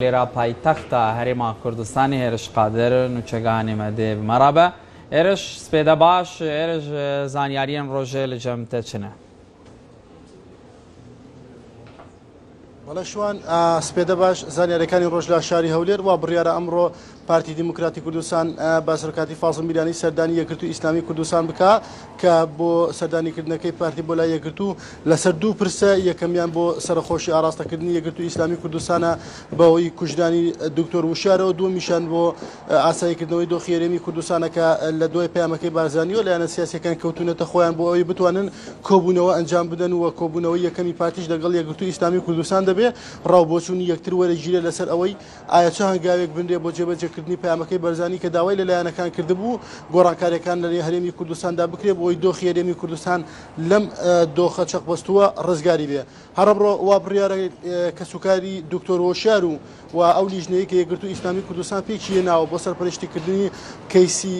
Hewlêra paytexta Herêma Kurdistanê Hêriş Qadir nûçegehanê me dê bi me re be. Hêriş, spêde baş, Hêriş zanyariyên rojê li cem te çi ne? بەڵێ شوان، سپێدە باش، زانیاریەکانی ڕۆژ لە شاری هەولێر وا بڕیارە ئەمڕۆ پارتی دیموکراتی کوردستان بە سەرۆکاتی فازڵ میرانی سەردانی یەکگرتوو ئیسلامی کوردستان بکا کە بۆ سەردانیکردنەکەی پارتی بۆ لای یەکگرتوو لەسەر دوو پرسە، یەکەمیان بۆ سەرەخۆشی ئاراستەکردنی یەکگرتوو ئیسلامی کوردستانە بەهۆی کوژرانی دکتۆر وشیارەوە، دووەمیشیان بۆ ئاساییکردنەوەی دۆخی هەرێمی کوردستانە کە لە دوای پەیامەکەی بارزانیەوە لایەنە سیاسیەکان کەوتوونەتە خۆیان بۆ ئەوەی بتوانن کۆبوونەوە ئەنجام بدەن و کۆبوونەوەی یەکەمی پارتیش لەگەڵ یەکگرتوو ئیسلامی کوردستان دەبێ ڕاوبۆچوونی یەکتر وەرەگیرێ لەسەر ئەوەی ئایا چ هەنگاوێک بنرێ بۆ جێبەجێکردنی پەیامەکەی بەرزانی کە داوای لە لایەنەکان کردبوو گۆڕانکاریەکان لە هەرێمی کوردستاندا بکرێ بۆ ئەوەی دۆخی هەرێمی کوردستان لەم دۆخە چەقبەستووە ڕزگاری بێ. هەر ئەمڕۆ وا بڕیارە کەسوکاری دکتۆر هۆشیار و و ئەو لیژنەیە کە یەکگرتوو ئیسلامی کوردستان پێکی هێناوە بۆ سەرپەرشتیکردنی کەیسی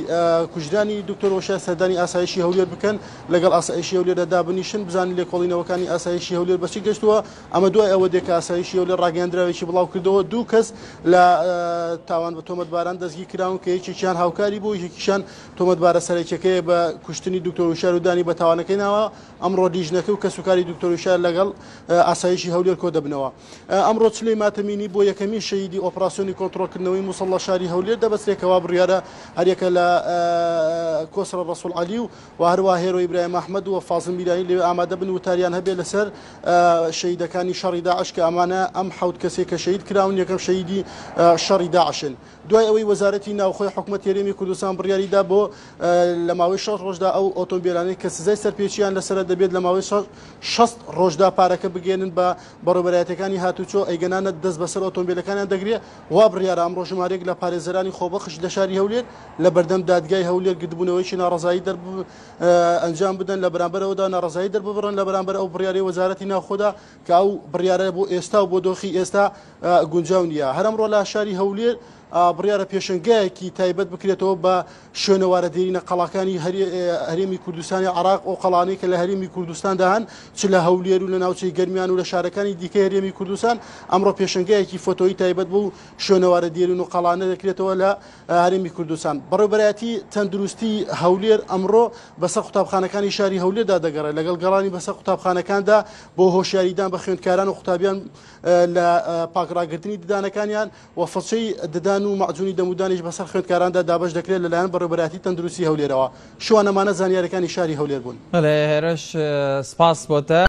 کوژرانی دکتۆر هۆشیار سەردانی ئاسایشی هەولێر بکەن لەگەڵ ئاسایشی هەولێردا دابنیشن بزانن لێکۆڵینەوەکانی ئاسایشی هەولێر بەچی گەشتووە ئەمە دوای ئەوە دێ کە ئاسایشی هەولێر ڕاگەیاندراوێکی بڵاو کردەوە دوو کەس لە تاوان بە تۆمەتباران دەستگیر کراون کە یەکێکیان هاوکاری بوو یەکێکیشان تۆمەتبارە سەرەکیەکەیە بە کوشتنی دکتۆر هۆشیار و دانی بە تاوانەکەی ناوە ئەمڕۆ لیژنەکە و کەسوکاری دکتۆر هۆشیار لەگەڵ ئاسایشی هەولێر کۆدەبنەوە. ئەمڕۆ چلەی ماتەمینی بۆ یەکەمین شەهیدی ئۆپراسیۆنی کۆنترۆڵکردنەوەی موسڵ لە شاری هەولێر دەبەسترێت کە وا بڕیارە هەریەکە لە کۆسرە ڕەسوڵ عەلی و و هەروە هێرۆ ئیبراهیم ئەحمەد و فازڵ میرانی لەوێ ئامادە بن وتاریان هەبێت لەسەر شەهیدەکانی شەڕی داعش کە ئەمانە ئەم حەوت کەسێک کە شەهید کراون یەکەم شەهیدی شەڕی داعشن. دوای ئەوەی وەزارەتی ناوخۆی حکومەتی هەرێمی کوردستان بڕیاری دا بۆ لە ماوەی 60 ڕۆژدا ئەو ئۆتۆمبیلانەی کە سزای سەرپێچیان لەسەرە دەبێت لە ماوەی 60 ڕۆژدا پارەکە بگەێنن بە بەڕێوەبەرایەتیەکانی هاتوچۆ ئەیگەنانە دەست بەسەر ئۆتۆمبیلەکانیان دەگرێت وا بڕیارە ئەمڕۆ ژمارەیەک لە پارێزەرانی خۆبەخش لە شاری هەولێر لە بەردەم دادگای هەولێر گردبوونەوەیەکی ناڕەزایی دەر ئەنجام بدەن لە بەرامبەرەوەدا ناڕەزایی دەرببڕن لە بەرامبەر ئەو بڕیارەی وەزارەتی ناوخۆدا کە ئەو بڕیارە بۆ ئێستا و بۆ دۆخی ئێستا گونجاو نییە. هەر ئەمڕۆ لە شاری هەولێر بڕیارە پێشەنگایەکی تایبەت بکرێتەوە بە شوێنەوارە دێرینە قەڵاکانی هەرێمی کوردستانی عراق ئەو قەڵانەی کە لە هەرێمی کوردستاندا هەن چ لە هەولێر و لە ناوچەی گەرمیان و لە شارەکانی دیکەی هەرێمی کوردستان ئەمڕۆ پێشەنگایەکی فۆتۆیی تایبەت بەو شوێنەوارە دێرین و قەڵانە دەکرێتەوە لە هەرێمی کوردستان. بەڕێوەبەرایەتی تەندروستی هەولێر ئەمڕۆ بەسەر قوتابخانەکانی شاری هەولێردا دەگەڕێت لەگەڵ گەڕانی بەسەر قوتابخانەکاندا بۆ هۆشیاریدان بە خوێندکاران و قوتابیان لە پاکڕاگرتنی ددانەکانیان و فڵچەی ددان و مەعجونی دەمودانیش بەسەر خوێندکاراندا دابەش دەکرێت لەلایەن بەڕێوەبەرایەتی تەندروستی هەولێرەوە. شوان ئەمانە زانیاریەکانی شاری هەولێر بوون. بەڵێ هێرش سپاس بۆ تە.